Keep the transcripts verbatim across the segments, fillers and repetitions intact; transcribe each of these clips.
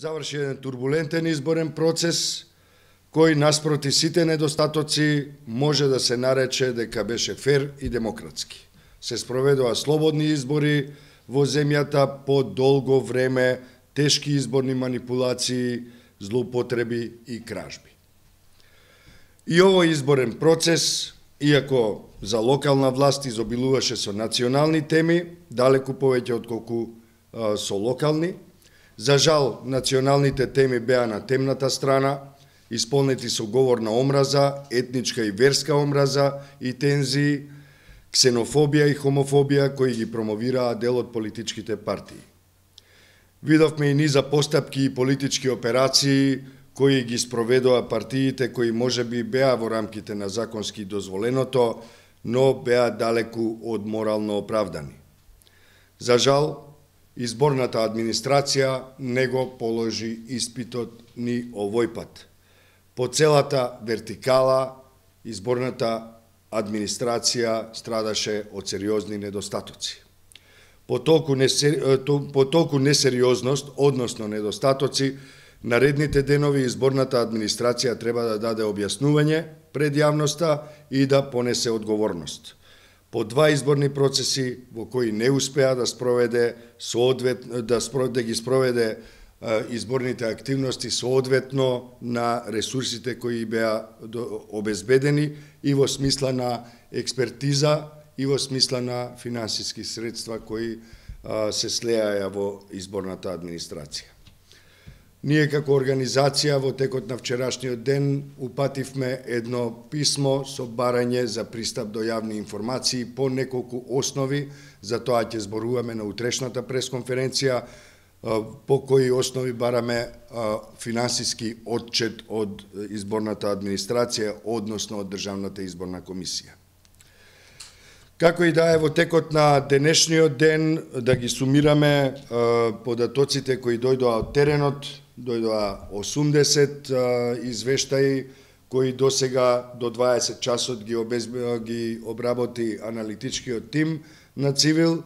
заврши еден турбулентен изборен процес, кој наспроти сите недостатоци може да се нарече дека беше фер и демократски. Се спроведоа слободни избори во земјата по долго време, тешки изборни манипулации, злоупотреби и кражби. И овој изборен процес, иако за локална власт изобилуваше со национални теми, далеку повеќе отколку а, со локални, за жал националните теми беа на темната страна, исполнети со говор на омраза, етничка и верска омраза и тензии, ксенофобија и хомофобија кои ги промовираа дел од политичките партии. Видовме и низа постапки и политички операции кои ги спроведоа партиите кои можеби беа во рамките на законски дозволеното, но беа далеку од морално оправдани. За жал, изборната администрација не го положи испитот ни овој пат. По целата вертикала, изборната администрација страдаше од сериозни недостатоци. По толку, несери... по толку несериозност, односно недостатоци, наредните денови изборната администрација треба да даде објаснување пред јавноста и да понесе одговорност. По два изборни процеси во кои не успеа да спроведе соодветно да, спро... да ги спроведе изборните активности соодветно на ресурсите кои беа обезбедени и во смисла на експертиза и во смисла на финансиски средства кои се слеаја во изборната администрација. Ние како организација во текот на вчерашниот ден упативме едно писмо со барање за пристап до јавни информации по неколку основи, за тоа ќе зборуваме на утрешната пресконференција, по кои основи бараме финансиски отчет од изборната администрација, односно од Државната изборна комисија. Како и да е, во текот на денешниот ден да ги сумираме податоците кои дојдоа од теренот, дојдоа осумдесет извештаи кои досега до дваесет часот ги, обезб... ги обработи аналитичкиот тим на Цивил.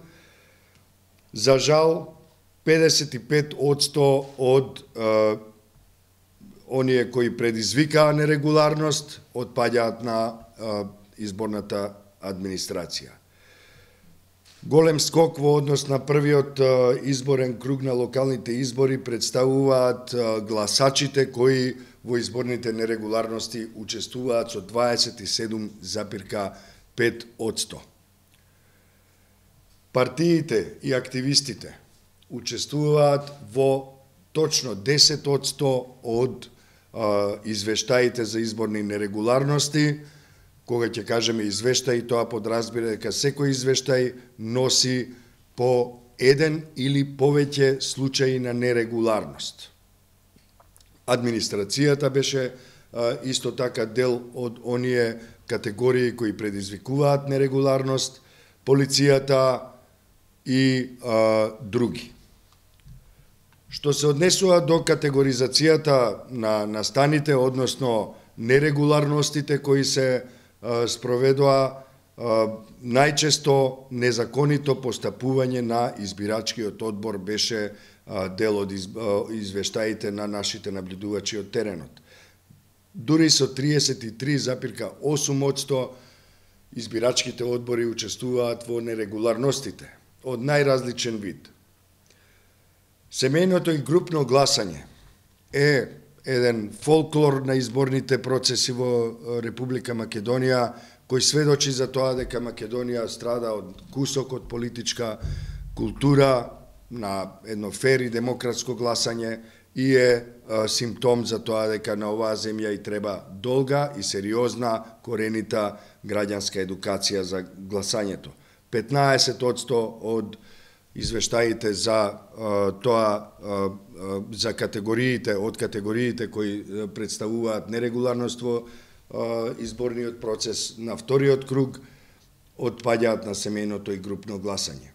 За жал, педесет и пет одсто од е, оние кои предизвикаа нерегуларност отпаѓаат на е, изборната администрација. Голем скок во однос на првиот е, изборен круг на локалните избори представуваат е, гласачите кои во изборните нерегуларности учествуваат со дваесет и седум запирка пет одсто. Партиите и активистите учествуваат во точно десет одсто од а, извештаите за изборни нерегуларности. Кога ќе кажеме извештаи, тоа подразбира дека секој извештај носи по еден или повеќе случаи на нерегуларност. Администрацијата беше а, исто така дел од оние категории кои предизвикуваат нерегуларност, полицијата и а, други. Што се однесува до категоризацијата на настаните, односно нерегуларностите кои се а, спроведоа, а, најчесто незаконито постапување на избирачкиот одбор беше а, дел од из, а, извештаите на нашите наблюдувачи од теренот. Дури со триесет и три запирка осум одсто избирачките одбори учествуваат во нерегуларностите од најразличен вид. Семејното и групно гласање е еден фолклор на изборните процеси во Република Македонија, кој сведочи за тоа дека Македонија страда од кусок од политичка култура на едно фер и демократско гласање и е а, симптом за тоа дека на оваа земја и треба долга и сериозна коренита граѓанска едукација за гласањето. петнаесет одсто од извештаите за а, тоа а, за категориите од категориите кои представуваат нерегуларност во а, изборниот процес на вториот круг отпаѓаат на семејното и групно гласање.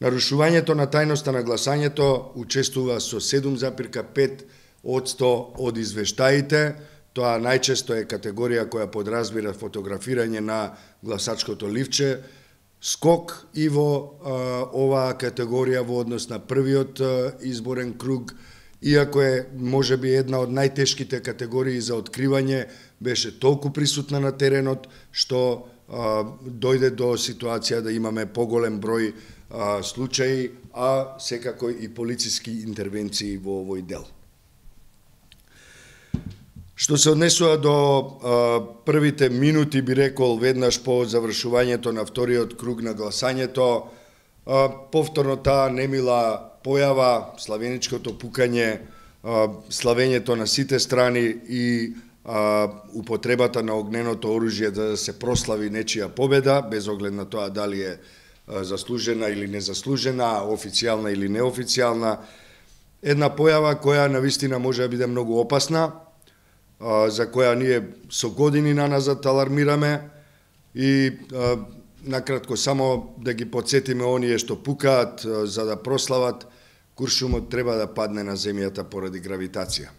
Нарушувањето на тајноста на гласањето учествува со седум запирка пет одсто од извештаите. Тоа најчесто е категорија која подразбира фотографирање на гласачкото ливче, скок и во а, оваа категорија во однос на првиот а, изборен круг иако е можеби една од најтешките категории за откривање, беше толку присутна на теренот што а, дојде до ситуација да имаме поголем број а, случаи, а секако и полициски интервенции во овој дел. Што се однесува до а, првите минути, би рекол, веднаш по завршувањето на вториот круг на гласањето, а, повторно таа немила појава, славеничкото пукање, а, славењето на сите страни и а, употребата на огненото оружје да се прослави нечија победа, без оглед на тоа дали е а, заслужена или незаслужена, официјална или неофицијална. Една појава која навистина може да биде многу опасна, а, за која ние со години наназад алармираме и а, накратко само да ги подсетиме оние што пукаат а, за да прослават, куршумот треба да падне на земјата поради гравитација.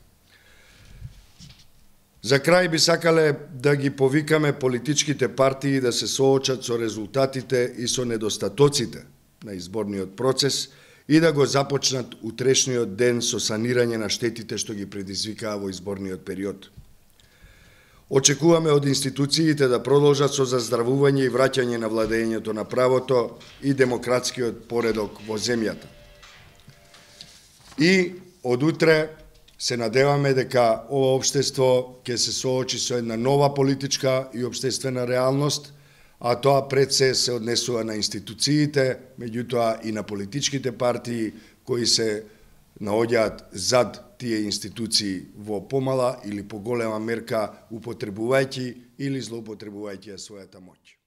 За крај би сакале да ги повикаме политичките партии да се соочат со резултатите и со недостатоците на изборниот процес и да го започнат утрешниот ден со санирање на штетите што ги предизвикаа во изборниот период. Очекуваме од институциите да продолжат со заздравување и враќање на владењето на правото и демократскиот поредок во земјата. И од утре се надеваме дека ова општество ќе се соочи со една нова политичка и општествена реалност, а тоа пред се се однесува на институциите, меѓутоа и на политичките партии кои се наоѓаат зад тие институции во помала или поголема мерка употребувајќи или злоупотребувајќи својата моќ.